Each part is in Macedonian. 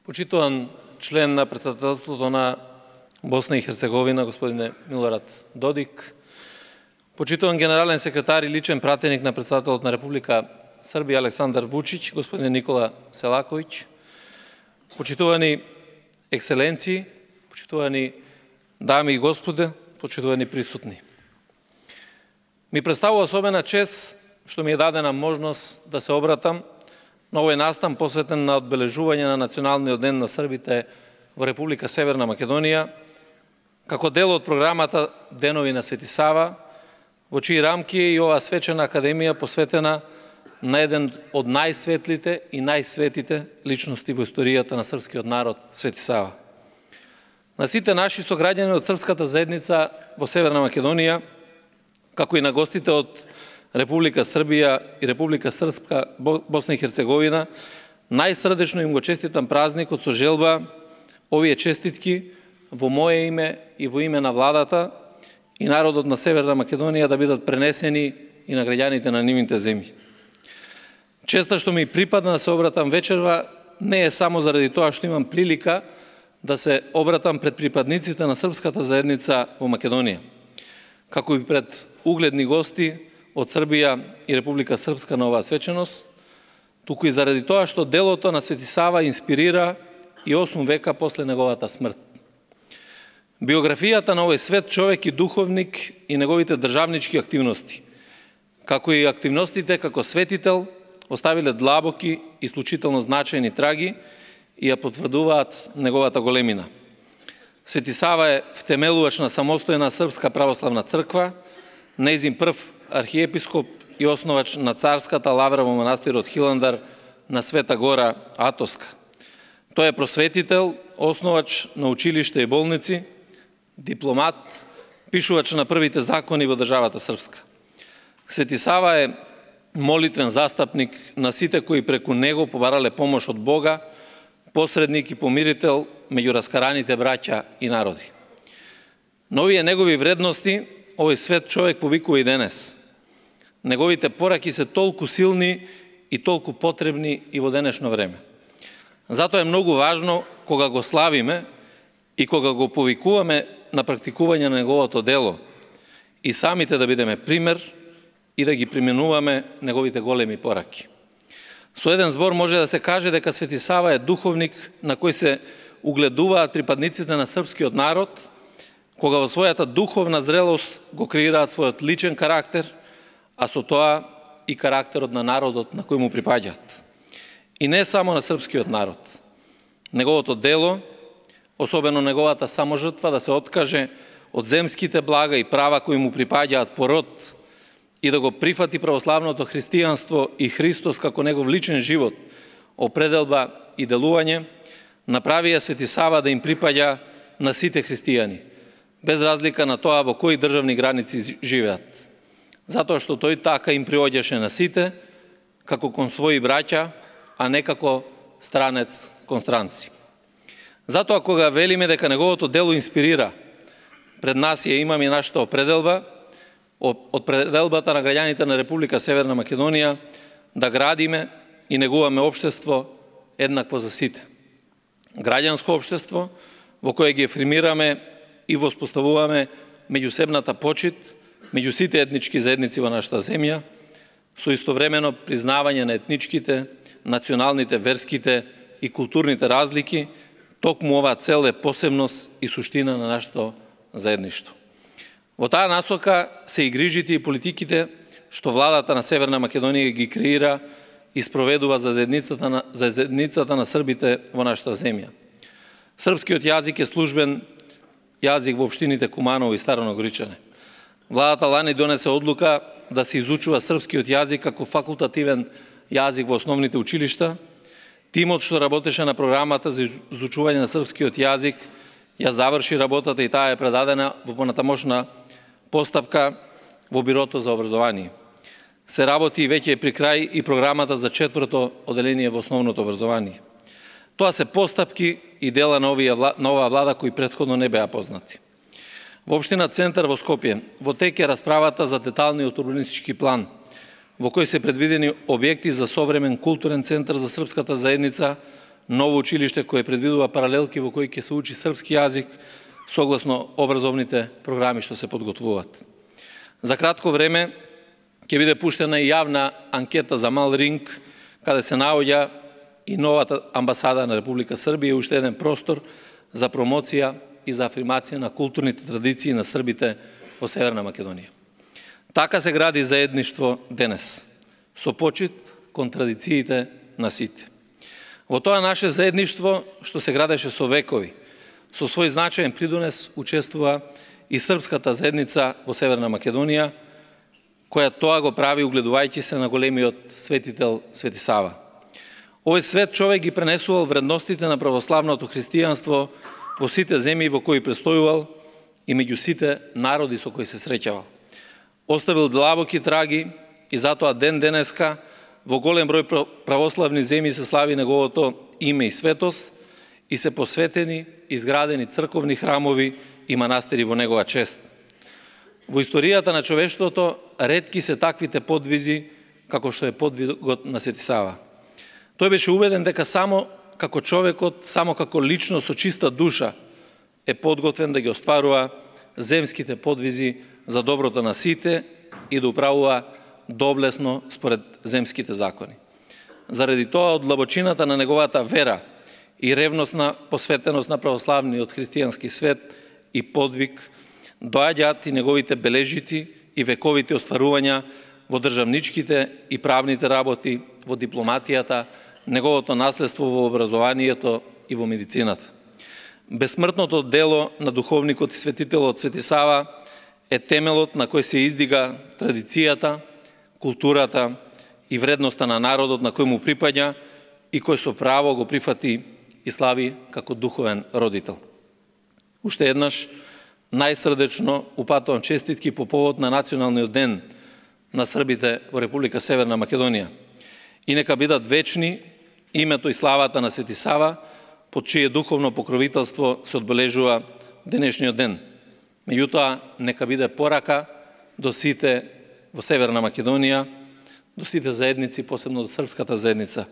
Почитуван член на председателството на Босна и Херцеговина, господине Милорад Додик, почитуван генерален секретар и личен пратеник на председателот на Република Србија Александар Вучич, господин Никола Селаковиќ, почитувани екселенции, почитувани дами и господа, почитувани присутни. Ми представува особена чест што ми е дадена можност да се обратам на овој настан посветен на одбележување на Националниот ден на Србите во Република Северна Македонија, како дел од програмата Денови на Свети Сава, во чии рамки е и оваа свечена академија посветена на еден од најсветлите и најсветите личности во историјата на српскиот народ, Свети Сава. На сите наши сограѓани од српската заедница во Северна Македонија, како и на гостите од Република Србија и Република Српска, Босна и Херцеговина, најсрдечно им го честитам празникот со желба овие честитки во моје име и во име на владата и народот на Северна Македонија да бидат пренесени и на граѓаните на нивните земји. Честа што ми припадна да се обратам вечерва не е само заради тоа што имам прилика да се обратам пред припадниците на српската заедница во Македонија, како и пред угледни гости од Србија и Република Српска на оваа свеченост, туку и заради тоа што делото на Свети Сава инспирира и 8 века после неговата смрт. Биографијата на овој свет човек и духовник и неговите државнички активности, како и активностите како светител, оставиле длабоки и исклучително значајни траги и ја потврдуваат неговата големина. Свети Сава е втемелувач на самостојна Српска православна црква, нејзин прв архиепископ и основач на царската лавра во манастирот Хиландар на Света Гора Атоска. Тој е просветител, основач на училишта и болници, дипломат, пишувач на првите закони во државата српска. Свети Сава е молитвен застапник на сите кои преку него побарале помош од Бога, посредник и помирител меѓу раскараните браќа и народи. Но овие негови вредности овој свет човек повикува и денес. Неговите пораки се толку силни и толку потребни и во денешно време. Затоа е многу важно кога го славиме и кога го повикуваме на практикување на неговото дело и самите да бидеме пример и да ги применуваме неговите големи пораки. Со еден збор може да се каже дека Свети Сава е духовник на кој се угледуваат припадниците на српскиот народ, кога во својата духовна зрелост го креираат својот личен карактер, а со тоа и карактерот на народот на кој му припаѓаат. И не само на српскиот народ. Неговото дело, особено неговата саможртва да се откаже од земските блага и права кои му припаѓаат по род и да го прифати православното христијанство и Христос како негов личен живот, определба и делување, направија Свети Сава да им припаѓа на сите христијани, без разлика на тоа во кои државни граници живеат. Затоа што тој така им приоѓаше на сите, како кон своји браќа, а не како странец кон странци. Затоа кога велиме дека неговото дело инспирира, пред нас ја имаме нашата определба, од пределбата на граѓаните на Република Северна Македонија, да градиме и негуваме општество еднакво за сите. Граѓанско општество во кое ги ефирмираме и воспоставуваме меѓусебната почит меѓу сите етнички заедници во нашата земја, со истовремено признавање на етничките, националните, верските и културните разлики, токму оваа цел е посебност и суштина на нашето заедништво. Во таа насока се и грижите и политиките што владата на Северна Македонија ги креира и спроведува за заедницата на србите во нашата земја. Српскиот јазик е службен јазик во општините Куманово и Старо Горичане. Владата лани донесе одлука да се изучува српскиот јазик како факултативен јазик во основните училишта. Тимот што работеше на програмата за изучување на српскиот јазик ја заврши работата и таа е предадена во понатамошна постапка во Бирото за образование. Се работи и веќе при крај и програмата за 4-то оделение во основното образование. Тоа се постапки и дела на оваа влада кои претходно не беа познати. Во општина Центар во Скопје во тек е расправата за деталниот урбанистички план, во кој се предвидени објекти за современ културен центар за српската заедница ново училиште кое предвидува паралелки во кои ќе се учи српски јазик согласно образовните програми што се подготвуваат. За кратко време ќе биде пуштена и јавна анкета за Мал Ринг, каде се наоѓа и новата амбасада на Република Србија и уште еден простор за промоција и за афирмација на културните традиции на србите во Северна Македонија. Така се гради заедништво денес, со почит кон традициите на сите. Во тоа наше заедништво, што се градеше со векови, со свој значаен придонес учествува и српската заедница во Северна Македонија, која тоа го прави угледувајќи се на големиот светител Свети Сава. Овој свет човек ги пренесувал вредностите на православното христијанство во сите земји во кои престојувал и меѓу сите народи со кои се среќавал. Оставил длабоки траги и затоа ден денеска во голем број православни земји се слави неговото име и светост и се посветени изградени црковни храмови и манастири во негова чест. Во историјата на човештвото ретки се таквите подвизи како што е подвигот на Свети Сава. Тој беше убеден дека само како човекот, само како личност со чиста душа е подготвен да ги остварува земските подвизи за доброто на сите и да управува доблесно според земските закони. Заради тоа, од длабочината на неговата вера и ревностна посветеност на православниот христијански свет и подвиг, доаѓаат и неговите бележити и вековите остварувања во државничките и правните работи, во дипломатијата, неговото наследство во образованието и во медицината. Бесмртното дело на духовникот и светителот Свети Сава е темелот на кој се издига традицијата, културата и вредноста на народот на кој му припаѓа и кој со право го прифати и слави како духовен родител. Уште еднаш, најсрдечно упатувам честитки по повод на Националниот ден на србите во Република Северна Македонија. И нека бидат вечни името и славата на Свети Сава, под чие духовно покровителство се одбележува денешниот ден. Меѓутоа, нека биде порака до сите во Северна Македонија, до сите заедници, посебно до српската заедница.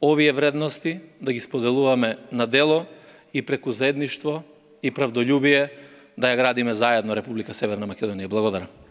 Овие вредности да ги споделуваме на дело и преку заедништво и правдолюбие да ја градиме заедно Република Северна Македонија. Благодарам.